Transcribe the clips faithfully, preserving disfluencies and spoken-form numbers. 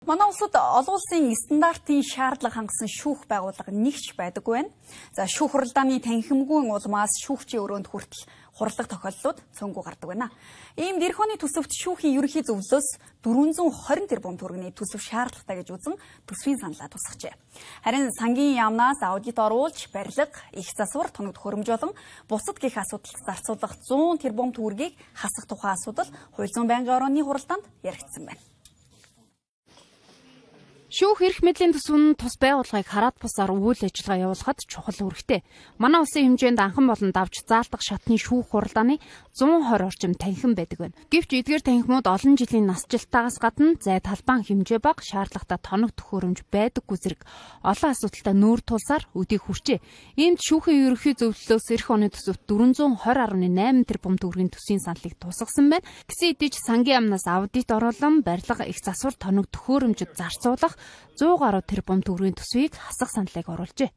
Манай улсад олон улсын стандартын шаардлага хангасан шүүх байгууллага нэгч байдаггүй байна. За шүүх хуралдааны танхимгүй улмаас шүүгчийн өрөөнд хүртэл хурлах тохиолдлууд цөөнгүй гардаг байна. Иймд эх оны төсөвт шүүхийн ерөнхий зөвлөлөөс дөрвөн зуун хорин тэрбум төгрөгийн төсөв шаардлагатай гэж үзэн төсвийн саналаа тусгажээ. Харин сангийн яамнаас аудит оруулж, барилга, их засвар, тоног төхөөрөмж болон бусад гэх асуудалд зарцуулах зуун тэрбум төгрөгийг хасах тухай асуудал хууль зүйн байнгын орооны хуралдаанд яригдсан байна. Шүүх эрх мэдлийн төсвөн тус байгууллагыг хараад бусаар үйл ажиллагаа явуулахад чухал үүрэгтэй. Манай улсын хэмжээнд анхан болон давж заалдах шатны шүүх хуралдааны зуун хорь орчим танхим байдаг байна. Гэвч эдгээр танхимууд олон жилийн насжилтаагаас гадна зай талбайн хэмжээ бага, шаардлагатай тоног төхөөрөмж байдаггүй зэрэг олон асуудалтай нүүр тулсаар өдийг хүрчээ. Иймд шүүхийн ерөнхий зөвлөлөөс эх оны төсөвт дөрвөн зуун хорь гаруй найман тэрбум төгрөгийн төсвийн саналыг тусгасан байна. Гэсэн хэдий ч сангийн яамнаас аудит оруулан, барилга, их засвар, тоног төхөөрөмжөд зарцуулах зуун гаруй тэрбум төгрөгийн төсвийг хасах саналыг оруулжээ.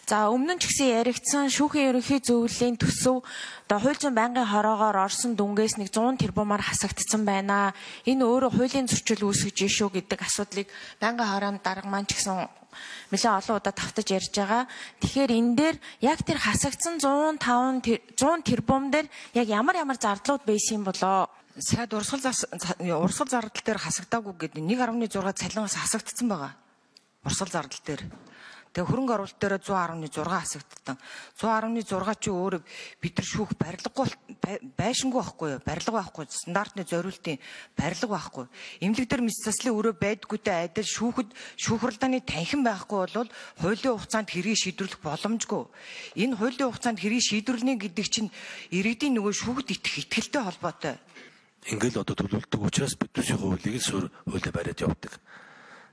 За өмнө нь ч гэсэн яригдсан шүүхийн ерөнхий зөвлөлийн төсөв одоо хууль зүйн байнгын хороогоор орсон дүнгээс нэг зуун тэрбумаар хасагдсан байна. Энэ өөрөө хуулийн зөрчил үүсгэж ишүү гэдэг асуудлыг байнгын хороонд дарга маань ч гэсэн нэлээд олон удаа тавтаж ярьж байгаа. Тэгэхээр энэ дээр яг тэр хасагдсан зуун таван зуун тэрбум дээр яг ямар ямар зардлууд байсан болоо? Сайд урсгал урсгал зардал дээр хасагдаагүй гэдэг нэг гаруй зураг цалингаас хасагдсан байгаа. Урсгал зардал дээр. Тэгээ хөрөнгө оруулалт дээр зуун гаруй зураг хасагдсан. зуун гаруй зураг чи өөрөө бид нар шүүх барилгагүй байшингүй байхгүй юу? Барилга байхгүй, стандартны зориултын барилга байхгүй. Эмнэлэг дээр мэс заслын өрөө байдгүйтэй адил шүүхэд шүүх хуралдааны танхим байхгүй бол хуулийн хугацаанд хэргийг шийдвэрлэх боломжгүй. Энэ хуулийн хугацаанд хэргийг шийдвэрлэнэ гэдэг чинь иргэдийн нөгөө шүүхэд итгэх итгэлтэй холбоотой. Ингээл одоо төлөвлөлтөг учраас бид төсвийн хуулийг суурь хуулиар бариад явдаг.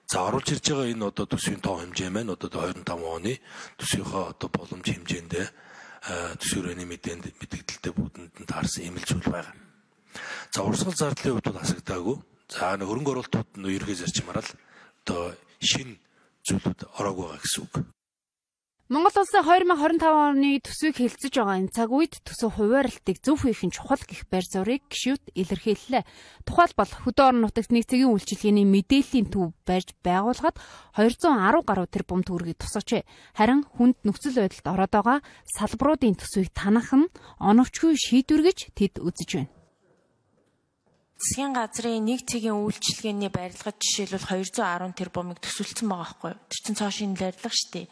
За оруулж ирж байгаа энэ одоо төсвийн тоо хэмжээ маань одоо двадцать пять оны төсвийнхөө одоо боломж хэмжээндээ төсвийн өрөөний мэдээнд мэдээлэлтэй бүгдэнд нь таарсан эмэл зүйл байгаа. За урсгал зардлын хувьд бол хасагдаагүй. За нэг хөрөнгө оруулалтууд нь ерхий зарчмаар л одоо шинэ зүйлүүд ороогүй байгаа гэсэн үг. Монгол улсын две тысячи двадцать пять оны төсвийг хэлэлцэж байгаа энэ цаг үед төсөв хуваарлтыг зөв хийх нь чухал гэх байр суурийг гишүүд илэрхийллээ. Тухайлбал хөдөө орон нутагт нэгцгийн үйлчилгээний мэдээллийн төв барьж байгуулахад двести десять гаруй тэрбум төгрөгийг тусгажээ. Харин хүнд нөхцөл байдалд ороод байгаа салбаруудын төсвийг танах нь оновчгүй шийдвэр гэж тэд үзэж байна. Засгийн газрын нэг цагийн үйлчилгээний барилгад жишээлбэл двести десять тэрбумыг төсөлсөн байгаа байхгүй юу? Тэр чинь цоо шинэ барилга шүү дээ.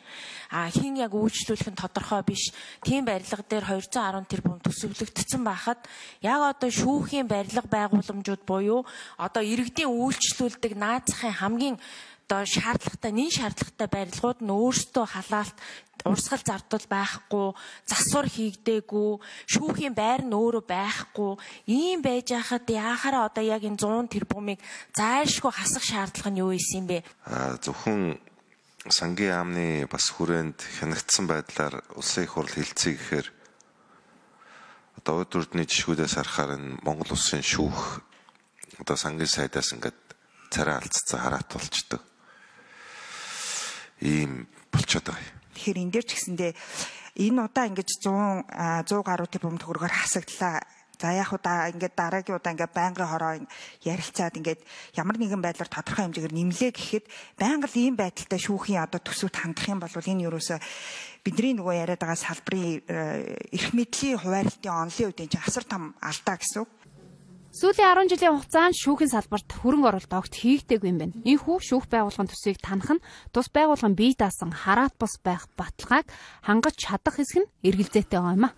А хин яг үйлчлүүлэх нь тодорхой биш. Тийм барилга дээр двести десять тэрбум төсөвлөгдсөн байхад яг одоо шүүхийн барилга байгууламжууд буюу одоо иргэдийн үйлчлүүлдэг наацхийн хамгийн одоо шаардлагатай, нэн шаардлагатай барилгууд нь өөрсдөө халаалт урсгал зардал байхгүй, засвар хийгдээгүй, шүүхийн байр нь өөрөө байхгүй, ийм байж хахад яахаараа одоо яг энэ зуун тэрбумыг зайлшгүй хасах шаардлага нь юу исэн бэ? Аа зөвхөн сангийн яамны бас хүрээнд хянагдсан байдлаар улсын их хурл хэлцээ гэхээр одоо өд төрдний жишгүүдээс харахаар энэ Монгол улсын шүүх одоо сангийн сайдаас ингээд царай алдцсан хараат болчдөг. Ийм болчиход байгаа. Тэгэхээр энэ дээр ч гэсэндээ энэ удаа ингэж сто гаруй тэрбум төгрөгөөр хасагдлаа. За яг удаа ингээд дараагийн удаа ингээд байнгын хороо ярилцаад ингээд ямар нэгэн байдлаар тодорхой хэмжээгээр нэмлээ гэхэд байнга л ийм байдалтай шүүхийн одоо төсөвт хандах юм бол энэ юусоо бидний нөгөө яриад байгаа салбарын эрх мэдлийн хуваарлтын онлын үеийн чинь асар том алдаа гэсэн үг. Сүүлийн десять жилийн хугацаанд шүүхийн салбарт хөрөнгө оруулалт огт хийгдээгүй юм байна. Энэхүү шүүх байгууллагын төсвийг танах нь тус байгууллагын бие даасан хараат бус байх баталгааг хангаж чадах хэсэг нь эргэлзээтэй байгаа юм а.